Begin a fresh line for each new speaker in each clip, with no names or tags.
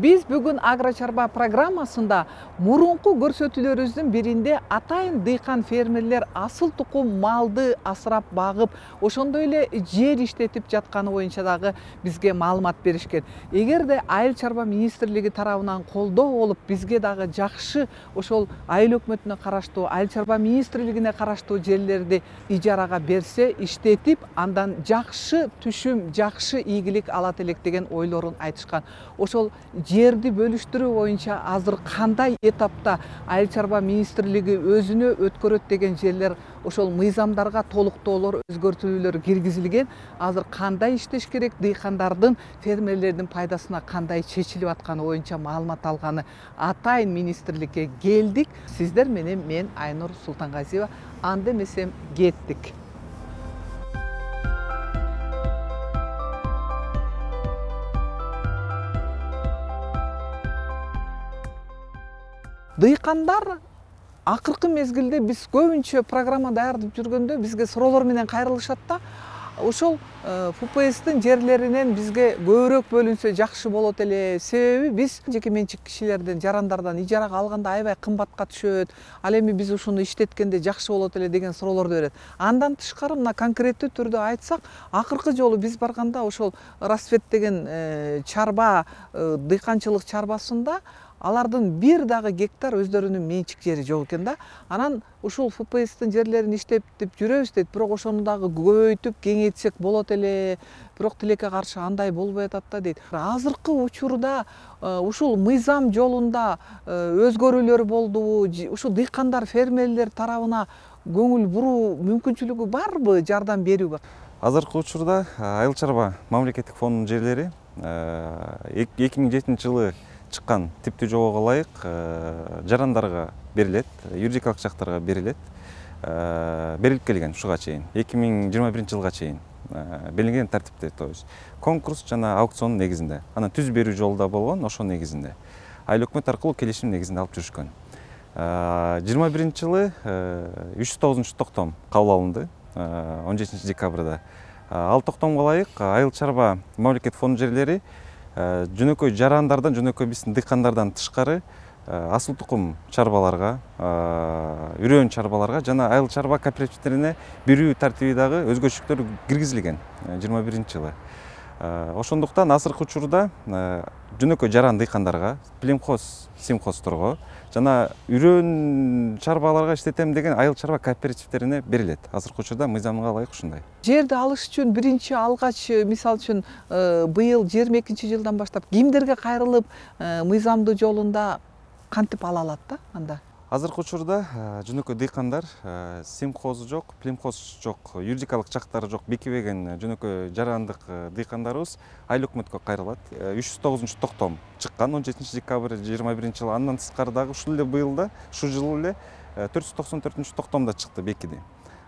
Биз бүгүн Агро Чарба программасында мурунку көрсөтүүлөрүбүздүн биринде атайын дыйкан фермерлер асыл тукум малды асырап багып, ошондой эле жер иштетип жатканы боюнча дагы бизге маалымат беришкен. Эгерде Айыл чарба министрлиги тарабынан колдоо болуп, бизге дагы жакшы ошол айыл өкмөтүнө караштуу, Айыл чарба министрлигине караштуу жерлерди ижарага берсе, иштетип, андан жакшы түшүм, жакшы ийгилик алат элек деген ойлорун айтышкан. Ошол жерди бөлүштүрүү боюнча азыр кандай этапта Айыл чарба министрлиги өзүнө өткөрөт деген жерлер, ошол мыйзамдарга толуктоолор, өзгөртүүлөр киргизилген. Азыр кандай иштеш керек, дыйкандардын, фермерлердин пайдасына кандай чечилип атканы боюнча маалымат алганы атайын министрликке келдик. Сиздер менен мен Айнур Султангазиева. Анда эмесем кеттик. Дыйкандар акыркы мезгилде биз көбүнчө программа даярдап жүргөндө бизге суроолор менен кайрылышат да. Ошол ФПСтин жерлеринен бизге көбүрөөк бөлүнсө жакшы болот эле. Себеби биз жеке менчик кишилерден, жарандардан ижарага алганда аябай кымбатка түшөт. Ал эми биз ушуну иштеткенде жакшы болот эле деген суроолорду берет. Андан тышкары мына конкреттүү түрдө айтсак, акыркы жолу биз барганда ошол Расцвет деген чарба, дыйканчылык чарбасында алардын бир дагы гектар өздөрүнүн менчик жери жок экен да. Анан ушул ФПСтин жерлерин иштетип жүрөбүз дейт, бирок ошону дагы көбөйтүп, кеңейтсек болот эле. Бирок тилекке каршы андай болбой атат да дейт. Азыркы учурда ушул мыйзам жолунда өзгөрүүлөр болдубу? Ушул дыйкандар, фермерлер тарабына көңүл буруу мүмкүнчүлүгү барбы, жардам берүүгө?
Азыркы учурда Айыл чарба мамлекеттик фондунун жерлери 2007 жылы чыккан типтүү жобого ылайык жарандарга берилет, юридикалык жактарга берилет. Берилип келген ушуга чейин 2021 жылга чейин белгиленген тартипте, то есть конкурс жана аукцион негизинде. Анан түз берүү жолу да болгон, ошо негизинде. Айыл өкмөт аркылуу келишим негизинде алып жүрүшкөн. 21 жылы 309 токтом кабыл алынды 17 декабрда. Ал токтомго ылайык Айыл чарба мамлекеттик фонд жерлери жөнөкөй жарандардан, жөнөкөй биздин дыйкандардан тышкары асыл тукум чарбаларга, үрөөн чарбаларга жана айыл чарба кооперативдерине берүү тартиби дагы өзгөчөлүктөр киргизилген 21 жылы. Ошондуктан азыркы учурда жөнөкөй жаран дыйкандарга, племхоз, симхозторго жана үрөөн чарбаларга иштетем деген айыл чарба кооперативдерине берилет. Азыркы учурда мыйзамга ылайык ушундай.
Жерди алыш үчүн биринчи алгач, мисалы үчүн быйыл 22 жылдан баштап кимдерге кайрылып, мыйзамдуу жолунда кантип ала алат да анда?
Азыркы учурда жөнөкөй дыйкандар, симхоз жок, племхоз жок, юридикалык жактары жок, бекибеген жөнөкөй жарандык дыйкандарыбыз айыл өкмөткө кайрылат. 309 токтом чыккан 17 декабрь 21 жылы. Андан тышкары дагы ушул эле быйылда, ушул жылы эле 494 токтомдо чыкты, бекиди.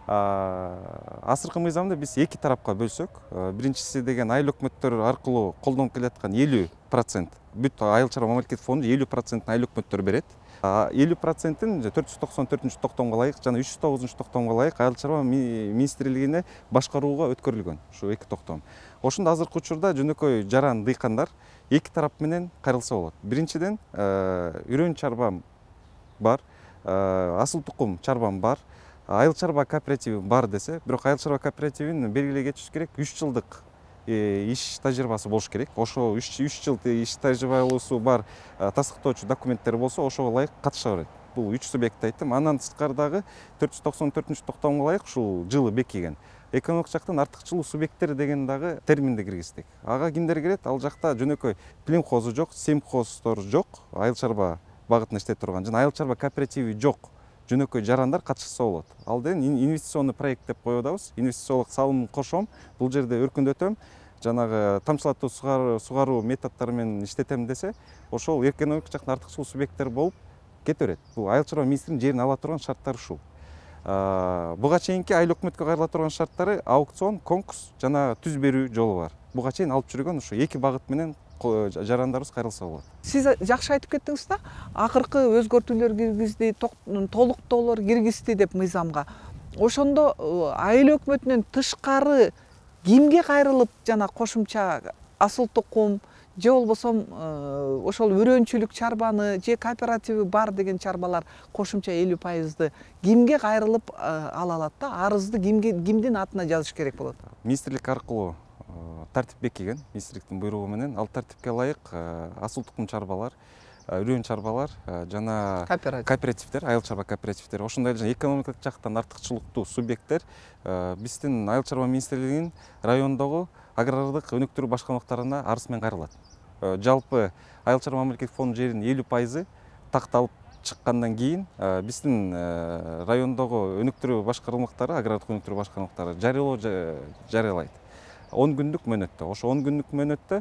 Азыркы мыйзамды биз эки тарапка бөлсөк, биринчиси деген айыл өкмөттөр аркылуу колдонуп келаткан 50%, бүт айыл чарба мамлекеттик фонду 50% айыл өкмөттөр берет. 50%-ин 494 токтомго ылайык жана 309 токтомго ылайык айыл чарба министрлигине башкарууга өткөрүлгөн ушу эки токтом. Ошондо азыркы учурда жөнөкөй жаран дыйкандар эки тарап менен кайрылса болот. Биринчиден үрөөн чарбам бар, асыл тукум чарбам бар, айыл чарба кооперативи бар десе, бирок айыл чарба кооперативин белгилей кетиш керек, 3 жылдык иш тажрыйбасы болуш керек. Ошо 3 жыл иш тажрыйбасы бар тастыктоочу документтер болсо, ошого ылайык катыша берет. Бул 3 субъект айттым. Андан тышкары дагы 494 токтомго ылайык ушул жылы бекиген экономик жактан артыкчылуу субъекттер деген дагы терминди киргиздик. Ага кимдер кирет? Ал жакта жөнөкөй племхозу жок, симхоздор жок, айыл чарба багытында иштеп турган жана айыл чарба кооперативи жок жөнөкөй жарандар катышса болот. Ал деген инвестиционный проект деп коюп атабыз. Инвестициялык салым кошом, бул жерде өркүндөтөм, жанагы тамчылатуу сугаруу методдору менен иштетем десе, ошол экономик жактан артыкчылуу субъекттер болуп кете берет. Бул айыл чарба министринин жерин ала турган шарттары ушул. Буга чейинки айыл өкмөткө кайрыла турган шарттары аукцион, конкурс жана түз берүү жолу бар. Буга чейин алып жүргөн ушу эки багыт менен жарандарыбыз кайрылса болот.
Сиз жакшы айтып кеттиңиз да, акыркы өзгөртүүлөр киргизди, толуктоолор киргизди деп мыйзамга. Ошондо айыл өкмөтүнөн тышкары кимге кайрылып жана кошумча асыл тукум же болбосо ошол өрөөнчүлүк чарбаны же кооперативи бар деген чарбалар кошумча 50%ды кимге кайрылып ала алат да, арызды кимдин атына жазыш керек болот?
Министрлик аркылуу тартип бекиген, министрликтин буйругу менен ал тартипке ылайык асыл тукум чарбалар, үрөөн чарбалар жана кооперативдер, айыл чарба кооперативдери, ошондой эле экономикалык жактан артыкчылыктуу субъекттер биздин айыл чарба министрлигинин райондогу агрардык өнүктүрүү башкармалыктарына арыз менен кайрылат. Жалпы айыл чарба мамлекеттик фонд жеринин 50% такталып чыккандан кийин биздин райондогу өнүктүрүү башкармалыктары, агрардык өнүктүрүү башкармалыктары жарыялоо жарыялайт. 10 күндүк мөөнөттө. Ошо 10 күндүк мөөнөттө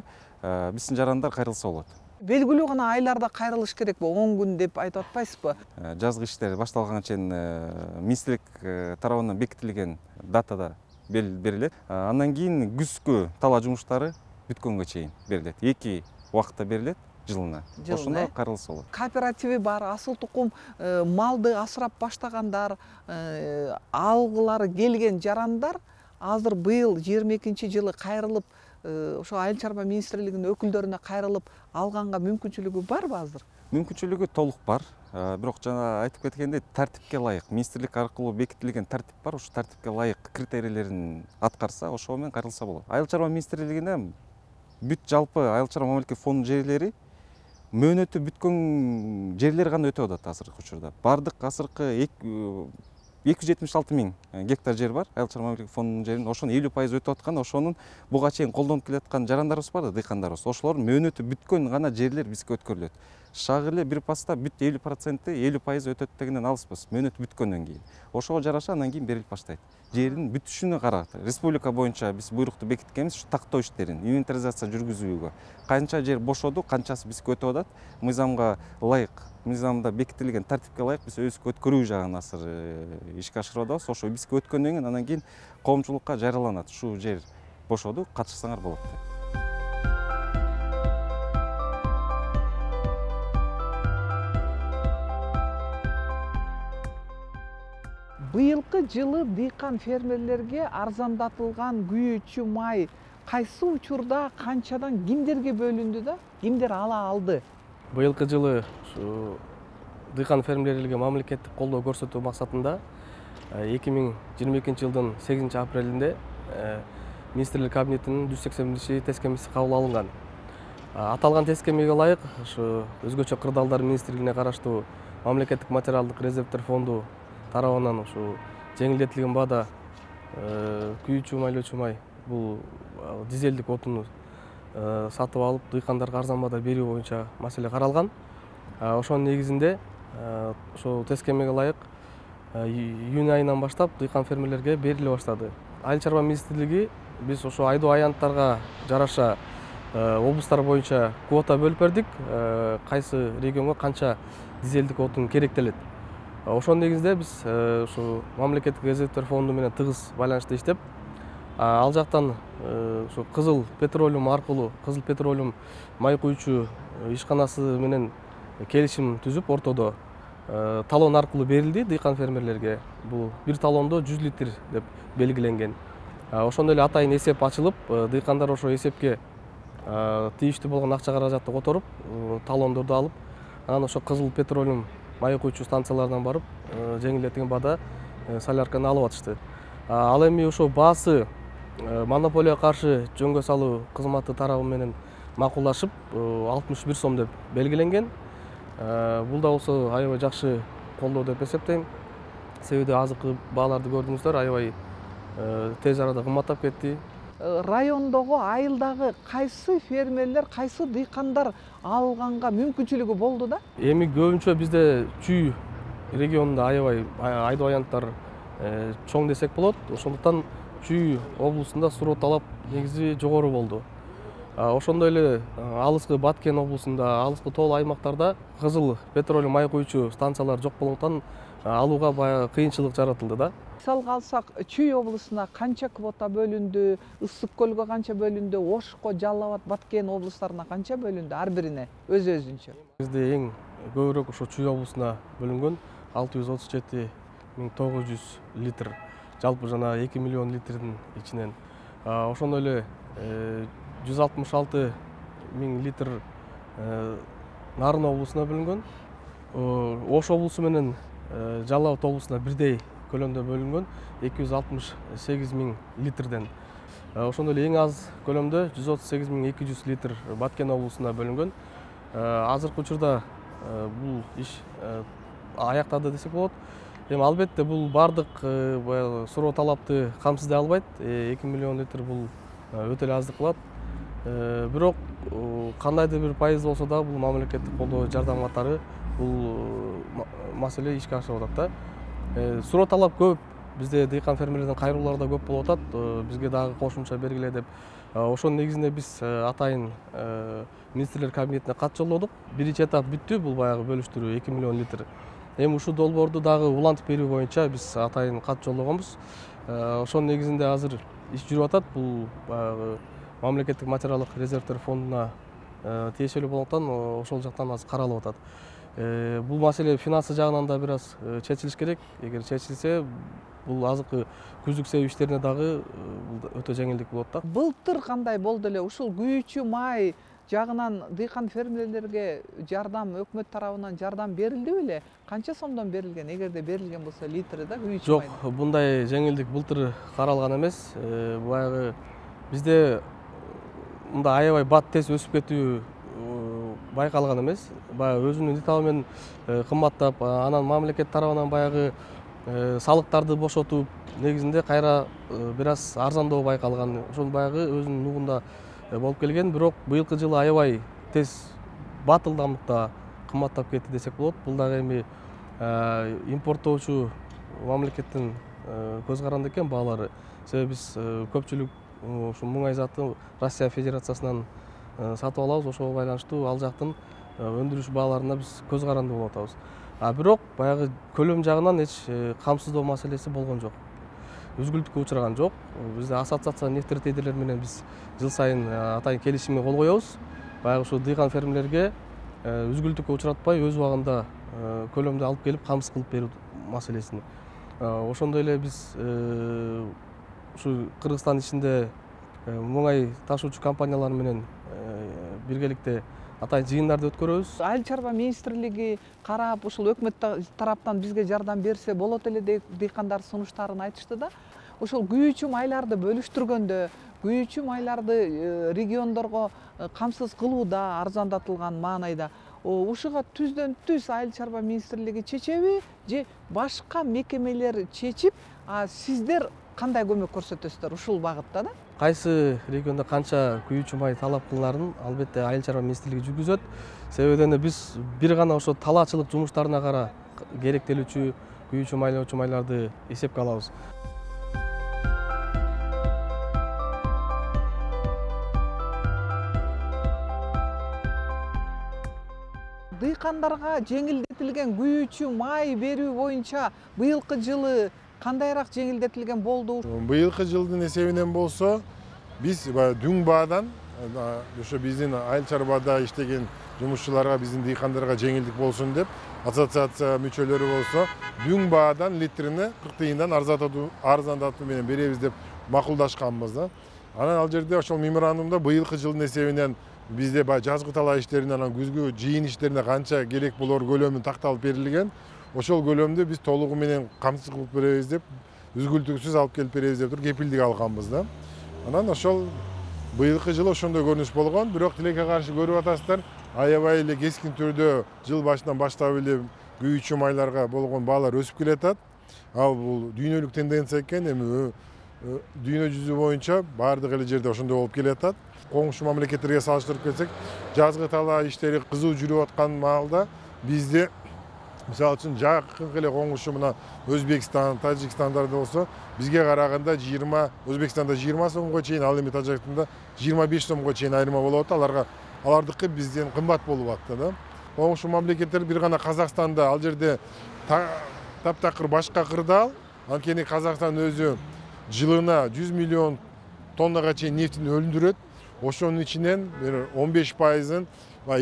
биздин жарандар кайрылса болот.
Белгилүү гана айларда кайрылыш керек 10 күн деп айтып атпайсызбы?
Жазгы иштер башталганга чейин министрлик тарабынан бекитилген датада берилет. Андан кийин күзгү талаа жумуштары бүткөнгө чейин берилет. 2 убакытта берилет жылына. Ошондо кайрылса болот.
Кооперативи бар, асыл тукум малды асырап баштагандар, алгылары келген жарандар азыр быйыл 22-жылы кайрылып, ошо айыл чарба министрлигинин өкүлдөрүнө кайрылып алганга мүмкүнчүлүгү барбы азыр?
Мүмкүнчүлүгү толук бар. Бирок жана айтып кеткендей, тартипке ылайык, министрлик аркылуу бекитилген тартип бар. Ошо тартипке ылайык критерийлерин аткарса, ошо менен кайрылса болот. Айыл чарба министрлигине бүт жалпы айыл чарба мамлекеттик фонд жерлери мөөнөтү бүткөн жерлер гана өтүп атат азыркы учурда. Бардык азыркы 276 000 гектар жер бар айыл чарба мамлекеттик фондунун жеринин. Ошонун 50% өтүп аткан, ошонун буга чейин колдонуп келаткан жарандарыбыз бар да, дыйкандарыбыз. Ошолордун мөөнөтү бүткөн гана жерлер бизге өткөрүлөт. Шагы эле бир паста бүт 50% өтөт дегенден алыспыз, мөөнөтү бүткөндөн кийин. Ошого жараша андан кийин берилип баштайт. Жердин бүтүшүнө карап, республика боюнча биз буйрукту бекиткенбиз ушу тактоо иштерин, инвентаризация жүргүзүүгө. Канча жер бошоду, канчасы бизге өтүп атат, мыйзамга ылайык, мыйзамда бекитилген тартипке ылайык биз өзүбүзгө өткөрүү жагын азыр ишке ашырып атабыз. Ошо бизге өткөндөн кийин андан кийин коомчулукка жарыяланат. Ушул жер бошоду, катышсаңар болот деп.
Быйылкы жылы дыйкан фермерлерге арзандатылган күйүүчү май кайсы учурда, канчадан кимдерге бөлүндү да, кимдер ала алды?
Быйылкы жылы ушу дыйкан фермерлерге мамлекеттик колдоо көрсөтүү максатында 2022 жылдын 8 апрелинде министрлик кабинетинин 181 тескемеси кабыл алынган. Аталган тескемеге ылайык ушу өзгөчө кырдаалдар министрлигине караштуу мамлекеттик материалдык резервдер фонду тарабынан ушу жеңилдетилген баада күйүүчү майлоочу май бул дизелдик отуну сатып алып дыйкандарга арзан баада берүү боюнча маселе каралган. Ошонун негизинде ошол тескемеге ылайык июнь айынан баштап дыйкан фермерлерге бериле баштады. Айыл чарба министрлиги биз ошо айдоо аянттарга жараша облустар боюнча квота бөлүп бердик, кайсы регионго канча дизелдик отун керектелет. Ошонун негизинде биз ушу мамлекеттик резервдер фонду менен тыгыз байланышта иштеп, ал жактан ушу Кызыл Петролиум аркылуу, Кызыл Петролиум май куючу ишканасы менен келишим түзүп, ортодо талон аркылуу берилди дыйкан фермерлерге. Бул бир талондо 100 литр деп белгиленген. Ошондой эле атайын эсеп ачылып, дыйкандар ошо эсепке тийиштүү болгон акча каражатты которуп, талондорду алып, анан ошо Кызыл Петролиум май куючу станциялардан барып, жеңилдетилген баада солярканы алып атышты. Ал эми ошо баасы монополияга каршы жөнгө салуу кызматы тарабы менен макулдашып, 61 сом деп белгиленген. Бул да болсо аябай жакшы колдоо деп эсептейм. Себеби азыркы бааларды көрдүңүздөр, аябай тез арада кымбаттап кетти.
Райондогу, айылдагы кайсы фермерлер, кайсы дыйкандар алганга мүмкүнчүлүгү болду да?
Эми көбүнчө бизде Чүй регионунда аябай айдоо аянттар чоң десек болот. Ошондуктан Чүй облусунда суроо талап негизи жогору болду. Ошондой эле алыскы Баткен облусунда, алыскы тол аймактарда Кызыл Петролиум май куючу станциялар жок болгондуктан алууга баягы кыйынчылык жаратылды да.
Мисалга алсак, Чүй облусуна канча квота бөлүндү, Ысык көлгө канча бөлүндү, Ошко, Жалал Абад, Баткен облустарына канча бөлүндү ар бирине өз-өзүнчө?
Бизде эң көбүрөөк ошо Чүй облусуна бөлүнгөн 637 900 литр. Жалпы жана 2 миллион литрдин ичинен. Ошондой эле 166 миң литр Нарын облусуна бөлүнгөн. Ош облусу менен Жалал абад облусуна бирдей көлөмдө бөлүнгөн 268 миң литрден. Ошондой эле эң аз көлөмдө 138 миң 200 литр Баткен облусуна бөлүнгөн. Азыркы учурда бул иш аяктады десек болот. Эми албетте бул бардык суроо талапты камсыздай албайт. 2 миллион литр бул өтө эле аздык кылат. Бирок кандайдыр бир пайыз болсо да бул мамлекеттик колдоо жардам катары бул маселе ишке ашып атат да. Суроо талап көп. Бизде дыйкан фермерлердин кайрылуулары да көп болуп атат. Бизге дагы кошумча бергиле деп. Ошонун негизинде биз атайын министрлер кабинетине кат жолдодук. Биринчи этап бүттү, бул баягы бөлүштүрүү 2 миллион литр. Эми ушул долбоорду дагы улантып берүү боюнча биз атайын кат жолдогонбуз. Ошонун негизинде азыр иш жүрүп атат. Бул баягы мамлекеттик материалдык резервдер фондуна тиешелүү болгондуктан ошол жактан азыр каралып атат. Бул маселе финансы жагынан да бир аз чечилиш керек. Эгер чечилсе, бул азыркы күздүк себип иштерине дагы өтө жеңилдик болот да.
Былтыр кандай болду эле ушул күйүүчү май жагынан дыйкан фермерлерге жардам өкмөт тарабынан жардам берилди беле? Канча сомдон берилген? Эгерде берилген болсо литри да күйүүчү
май? Жок, мындай жеңилдик былтыр каралган эмес. Баягы бизде мында аябай бат тез өсүп кетүү байкалган эмес. Баягы өзүнүн итабы менен кымбаттап, анан мамлекет тарабынан баягы салыктарды бошотуп, негизинде кайра бир аз арзандоо байкалган. Ошол баягы өзүнүн нугунда болуп келген. Бирок быйылкы жылы аябай тез бат ылдамдыкта кымбаттап кетти десек болот. Бул дагы эми импорттоочу мамлекеттин көз каранды экен баалары. Себеби биз көпчүлүк ушу муңай заты Россия Федерациясынан сатып алабыз. Ошого байланыштуу ал жактын өндүрүш бааларына биз көз каранды болуп атабыз. Бирок баягы көлөм жагынан эч камсыздоо маселеси болгон жок. Үзгүлтүккө учураган жок. Бизде ассоциация нефтеретейдерлер менен биз жыл сайын атайын келишимге кол коебуз. Баягы ушу дыйкан фермерлерге үзгүлтүккө учуратпай өз убагында көлөмдү алып келип камсыз кылып берүү маселесин. Ошондой эле биз ушу Кыргызстан ичинде муңай ташуучу компаниялар менен биргеликте атайын жыйындарды өткөрөбүз.
Айыл чарба министрлиги карап, ушул өкмөт тараптан бизге жардам берсе болот эле деп дыйкандар сунуштарын айтышты да. Ушул күйүүчү майларды бөлүштүргөндө, күйүүчү майларды региондорго камсыз кылууда, арзандатылган маанайда ушуга түздөн түз айыл чарба министрлиги чечеби же башка мекемелер чечип, сиздер кандай көмөк көрсөтөсүздөр ушул багытта да?
Кайсы региондо канча күйүүчү май талап кылынарын албетте айыл чарба министрлиги жүргүзөт. Себебинен биз бир гана ошо талаачылык жумуштарына кара керектелүүчү күйүүчү майларды эсепке алабыз.
Дыйкандарга жеңилдетилген күйүүчү май берүү боюнча быйылкы жылы кандайраак жеңилдетилген болду?
Быйылкы жылдын эсебинен болсо, биз дүң баадан ошо биздин айыл чарбада иштеген жумушчуларга, биздин дыйкандарга жеңилдик болсун деп, ассоциация мүчөлөрү болсо, дүң баадан литрине 40 тыйындан арзандатуу менен беребиз деп макулдашканбыз да. Анан ал жерде ошол меморандумда быйылкы жылдын эсебинен бизде жазгы талаа иштерине, анан күзгү жыйын иштерине канча керек болор көлөмү такталып берилген. Ошол көлөмдү биз толугу менен камсыз кылып беребиз деп, үзгүлтүксүз алып келип беребиз деп туруп кепилдик алганбыз да. Анан ошол быйылкы жылы ошондой көрүнүш болгон. Бирок тилекке каршы көрүп атасыздар, аябай эле кескин түрдө жыл башынан баштап эле күйүүчү майларга болгон баалар өсүп келатат. Ал бул дүйнөлүк тенденция экен. Эми дүйнө жүзү боюнча баардык эле жерде ошондой болуп келатат. Коңшу мамлекеттерге салыштырып келсек, жазгы талаа иштери кызуу жүрүп аткан маалда бизде мисалы үчүн жакынкы эле коңшу мына Өзбекстан, Тажикстандарда болсо, бизге караганда Өзбекстанда 20 сомго чейин, ал эми Тажикстанда 25 сомго чейин айырма болуп атат. Алардыкы бизден кымбат болуп атты да. Коңшу мамлекеттер бир гана Казакстанда, ал жерде таптакыр башка кырдаал, анткени Казакстан өзү жылына 100 миллион тоннага чейин нефтин өндүрөт. Ошонун ичинен 15%-ын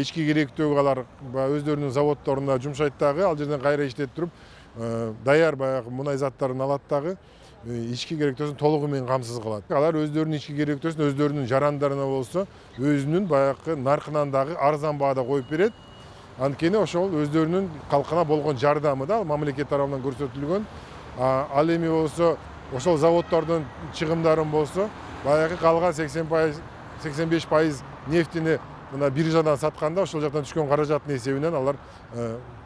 ички керектөөгө алар өздөрүнүн заводдоруна жумшайт дагы, ал жерден кайра иштетип туруп даяр баягы мунай заттарын алат дагы. ички керектөөсүн толугу менен камсыз кылат. Алар өздөрүнүн ички керектөөсүн өздөрүнүн жарандарына болсо өзүнүн баягы наркынан дагы арзан баада коюп берет. Анткени ошол өздөрүнүн калкына болгон жардамы да мамлекет тарабынан көрсөтүлгөн. Ал эми болсо ошол заводдордун чыгымдарын болсо баягы калган 85% нефтини мына биржадан сатканда ошол жактан түшкөн каражаттын эсебинен алар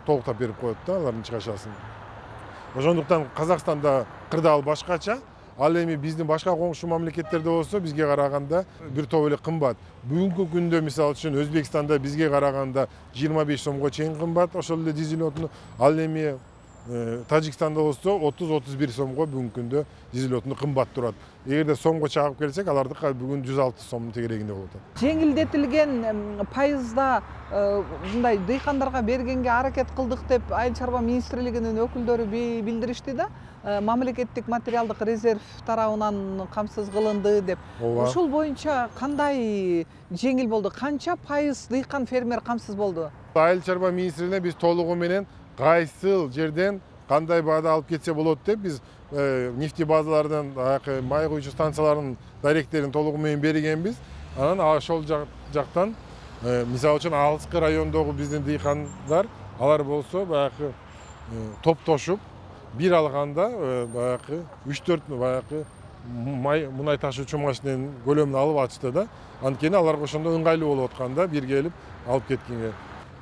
толуктап берип коет да алардын чыгашасын. Ошондуктан Казакстанда кырдаал башкача. Ал эми биздин башка коңшу мамлекеттерде болсо бизге караганда бир топ эле кымбат. Бүгүнкү күндө мисалы үчүн Өзбекстанда бизге караганда 25 сомго чейин кымбат ошол эле дизель отуну. Ал эми Тажикстанда болсо 30-31 сомго бүгүнкү күндө дизель отуну кымбат турат. Эгерде сомго чагып келсек, алардыкы бүгүн 106 сомдун тегерегинде болот.
Жеңилдетилген пайызда мындай дыйкандарга бергенге аракет кылдык деп Айыл чарба министрлигинин өкүлдөрү билдиришти да. Мамлекеттик материалдык резерв тарабынан камсыз кылынды деп. Ушул боюнча кандай жеңил болду? Канча пайыз дыйкан фермер камсыз болду?
Айыл чарба министрлигине биз толугу менен кайсыл жерден кандай баада алып кетсе болот деп биз нефти базалардан май куюучу станциялардын даректерин толугу менен бергенбиз. Анан ошол жактан мисалы үчүн алыскы райондогу биздин дыйкандар алар болсо баягы топтошуп бир алганда баягы 3-4 баягы мунай ташуучу машиненин көлөмүн алып атышты да. Анткени аларга ошондо ыңгайлуу болуп атканда бир келип алып кеткенге.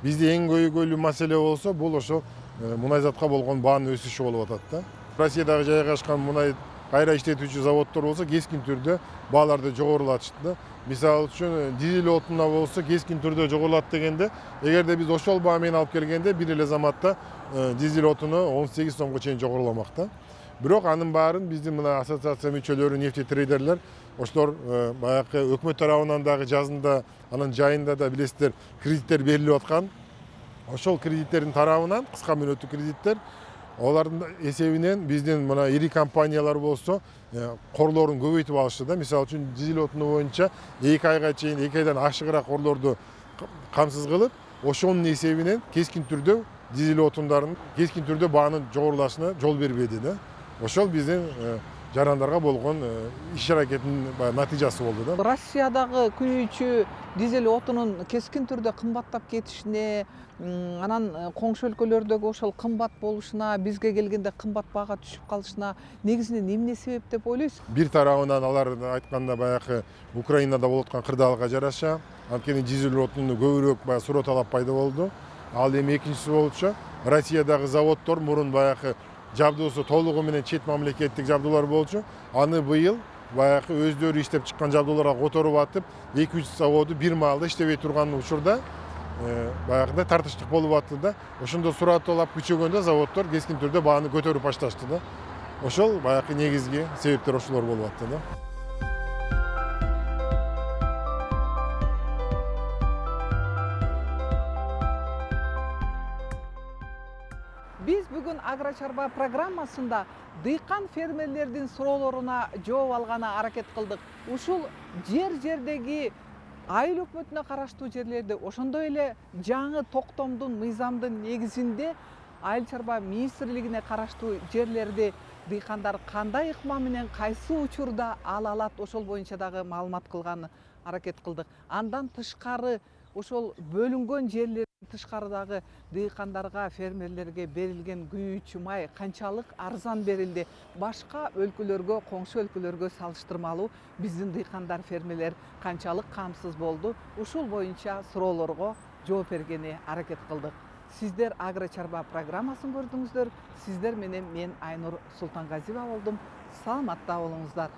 Бизде эң көйгөйлүү маселе болсо бул ошо мунайзатка болгон баанын өсүшү болуп атат да. Россиядагы жайгашкан мунай кайра иштетүүчү заводдор болсо кескин түрдө бааларды жогорулатышты да. Мисалы үчүн дизель отунуна болсо кескин түрдө жогорулат дегенде, эгерде биз ошол баа менен алып келгенде бир эле заматта дизель отуну 18 сомго чейин жогоруламак да. Бирок анын баарын биздин мына ассоциация мүчөлөрү нефтетрейдерлер ошолор баягы өкмөт тарабынан дагы жазында анын жайында да билесиздер кредиттер берилип аткан. Ошол кредиттердин тарабынан кыска мөөнөттүү кредиттер алардын эсебинен биздин мына ири компаниялар болсо корлорун көбөйтүп алышты да. Мисалы үчүн дизель отуну боюнча 2 айга чейин 2 айдан ашыгыраак корлорду камсыз кылып, ошонун эсебинен кескин түрдө дизель отундарын кескин түрдө баанын жогорулашына жол бербеди да. Ошол биздин жарандарга болгон иш аракеттин натыйжасы болду да.
Россиядагы күйүүчү дизель отунун кескин түрдө кымбаттап кетишине, анан коңшу өлкөлөрдөгү ошол кымбат болушуна, бизге келгенде кымбат баага түшүп калышына негизинен эмне себеп деп ойлойсуз?
Бир тарабынан алар айтканда баягы Украинада болуп аткан кырдаалга жараша, анткени дизель отуну көбүрөөк суроо талап пайда болду. Ал эми экинчиси болчу Россиядагы заводдор мурун баягы жабдуусу толугу менен чет мамлекеттик жабдуулар болчу. Аны быйыл баягы өздөрү иштеп чыккан жабдууларга которуп атып, 2-3 заводу бир маалда иштебей турган учурда баягындай тартыштык болуп атты да. Ошондо суроо талап күчөгөндө заводдор кескин түрдө бааны көтөрүп башташты да. Ошол баягы негизги себептер ошолор болуп атты да.
Биз бүгүн Агрочарба программасында дыйкан фермерлердин суроолоруна жооп алганы аракет кылдык. Ушул жердеги айыл өкмөтүнө караштуу жерлерде, ошондой эле жаңы токтомдун мыйзамдын негизинде Айыл чарба министрлигине караштуу жерлерди дыйкандар кандай ыкма менен кайсы учурда ала алат, ошол боюнча дагы маалымат кылганы аракет кылдык. Андан тышкары ошол бөлүнгөн жерлер тышкарыдагы дыйкандарга, фермерлерге берилген күйүүчү май канчалык арзан берилди? Башка өлкөлөргө, коңшу өлкөлөргө салыштырмалуу биздин дыйкандар, фермерлер канчалык камсыз болду? Ушул боюнча суроолорго жооп бергени аракет кылдык. Сиздер Агрочарба программасын көрдүңүздөр. Сиздер менен мен Айнур Султангазиева болдум. Саламатта болуңуздар.